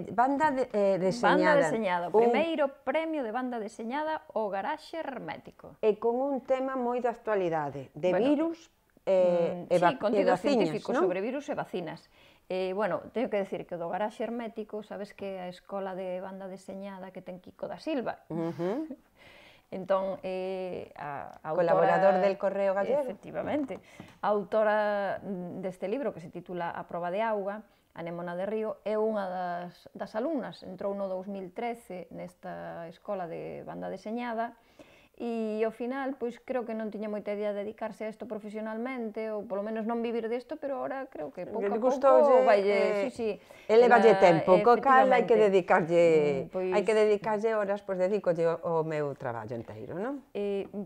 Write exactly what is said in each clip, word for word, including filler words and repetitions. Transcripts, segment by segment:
banda de, eh, Banda deseñada. deseñada, o primeiro premio de banda deseñada, o Garaxe Hermético. E con un tema moi de actualidade, de Bueno, virus e, mm, e, sí, va, e contidos vacinas, científicos non? sobre virus e vacinas. Eh, bueno, teño que decir que o do Garaxe Hermético, sabes que a escola de banda deseñada que ten Kiko da Silva. Uh -huh. Entón, eh, a, a autora... Colaborador del Correo Gallego. Efectivamente. A autora deste libro, que se titula A proba de auga, Anémona de Río, é unha das, das alumnas, entrou no dous mil trece nesta escola de banda deseñada, e ao final, pois creo que non tiña moita idea de dedicarse a isto profesionalmente, ou polo menos non vivir disto, pero ahora creo que pouco a pouco vaille, sí, sí. Elevalle tempo, co cal hai que dedicarlle, hai que dedicarlle horas, pois dedícolle o meu traballo inteiro, non?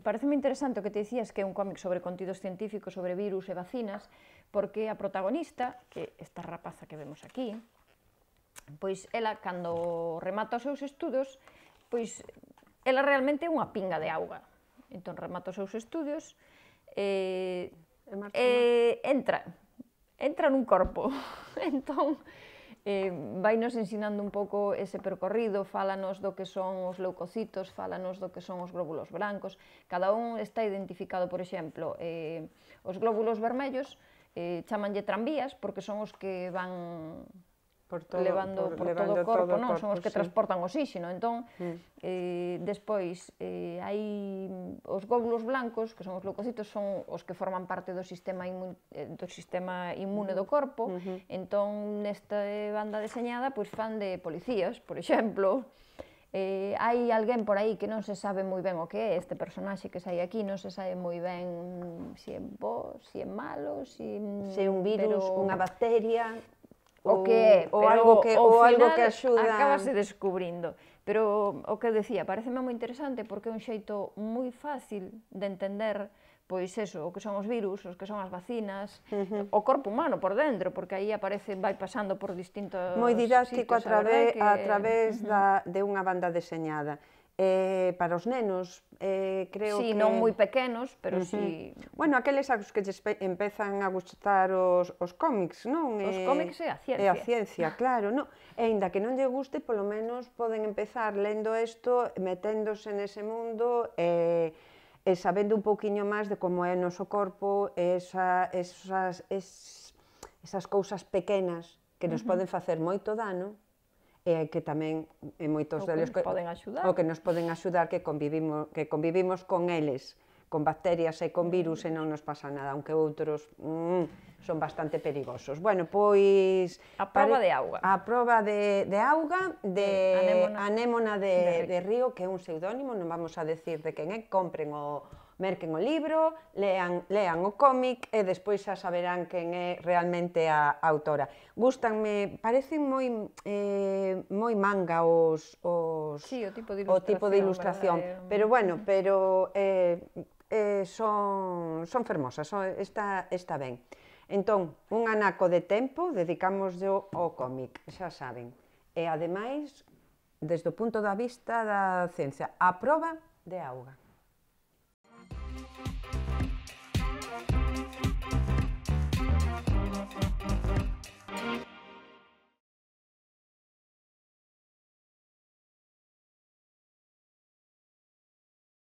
Pareceme interesante o que te dicías, que é un cómic sobre contidos científicos, sobre virus e vacinas, porque a protagonista, que esta rapaza que vemos aquí, pois ela, cando remata os seus estudos, pois ela realmente é unha pinga de auga. Entón, remata os seus estudios e, e entra, entra nun corpo. Entón, eh, vainos ensinando un pouco ese percorrido, fálanos do que son os leucocitos, fálanos do que son os glóbulos brancos. Cada un está identificado, por exemplo, eh, os glóbulos vermellos eh, chamanlle tranvías, porque son os que van... Por todo, levando por, por levando todo o corpo, todo non? Corpo, son os que sí. transportan oxígeno. Entón, mm. eh, despois, eh, hai os glóbulos blancos, que son os leucocitos, son os que forman parte do sistema, inmun, eh, do sistema inmune do corpo. Uh -huh. Entón, nesta banda deseñada, pois fan de policías, por exemplo. Eh, hai alguén por aí que non se sabe moi ben o que é, este personaxe que sai aquí, non se sabe moi ben se é bo, se é malo, se é un virus, pero... unha bacteria... o que é, ou pero algo que, ao ou algo final que axuda... acabase descubrindo. Pero o que decía, pareceme moi interesante porque é un xeito moi fácil de entender, pois eso, o que son os virus, os que son as vacinas, uh -huh. o corpo humano por dentro, porque aí aparece, vai pasando por distintos moi didáctico sitios, a través, que... a través uh -huh. da, de unha banda deseñada. Eh, para os nenos, eh, creo sí, que... Sí, non moi pequenos, pero uh -huh. sí... Bueno, aqueles aos que empezan a gustar os, os cómics, non? Os cómics e a ciencia. E a ciencia, claro, non? E ainda que non lle guste, polo menos poden empezar lendo isto, meténdose nese mundo e, e sabendo un pouquiño máis de como é o noso corpo, esa, esas, es, esas cousas pequenas que nos uh -huh. poden facer moito dano, e que tamén en moitos deles que poden axudar. o que nos poden axudar que convivimos que convivimos con eles, con bacterias e con virus e non nos pasa nada, aunque outros mm, son bastante perigosos. Bueno, pois a proba de auga. A proba de de auga de Anémona, Anémona de, de Río, que é un pseudónimo, non vamos a decir de quen é, compren o merquen o libro, lean, lean o cómic e despois xa saberán quen é realmente a autora. Gústanme, parecen moi eh, moi manga os, os sí, o tipo de ilustración, o tipo de ilustración verdad, pero bueno, pero eh, eh, son, son fermosas, son, está, está ben. Entón, un anaco de tempo dedicamos yo ao cómic, xa saben. E ademais, desde o punto da vista da ciencia, a proba de auga.